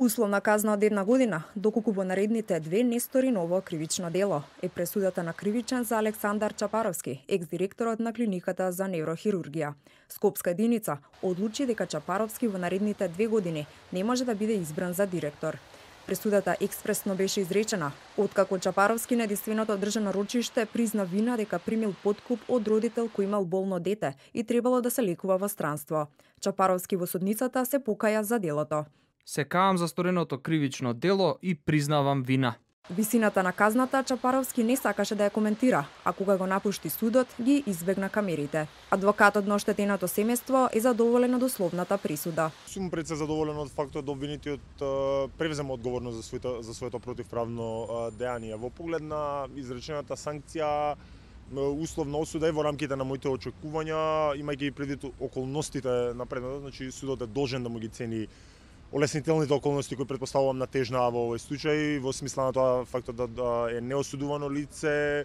Условна казна од 1 година, доколку во наредните 2 не стори ново кривично дело, е пресудата на кривичен за Александар Чапаровски, екс-директорот на клиниката за неврохирургија. Скопска единица одлучи дека Чапаровски во наредните 2 години не може да биде избран за директор. Пресудата експресно беше изречена, откако Чапаровски на единственото државно рочиште призна вина дека примил подкуп од родител кој имал болно дете и требало да се лекува во странство. Чапаровски во судницата се покаја за делото. Се каам за стореното кривично дело и признавам вина. Висината на казната Чапаровски не сакаше да ја коментира, а кога го напушти судот, ги избегна камерите. Адвокатот на оштетеното семејство е задоволен од условната присуда. Сум пред се задоволен од фактот да обвинетиот превзема одговорност за своето противправно дејание. Во поглед на изречената санкција, условна осуда е во рамките на моите очекувања, имајќи предвид околностите на предметот, значи судот е должен да му ги цени олеснителните околности кои претпоставувам на тежна во овој случај, во смисла на тоа фактот да е неосудувано лице,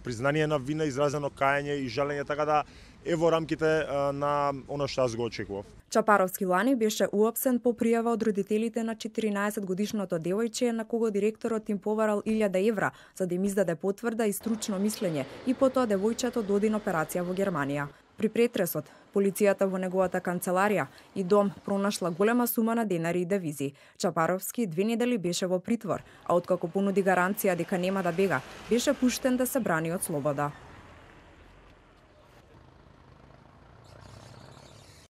признание на вина, изразено кајање и жалење, така да е во рамките на она што аз го очекував. Чапаровски лани беше уапсен по пријава од родителите на 14-годишното девојче на кого директорот им поварал 1000 евра за да им издаде потврда и стручно мислење и потоа девојчето доди на операција во Германија. При претресот, полицијата во неговата канцеларија и дом пронашла голема сума на денари и девизи. Чапаровски 2 недели беше во притвор, а откако понуди гаранција дека нема да бега, беше пуштен да се брани од слобода.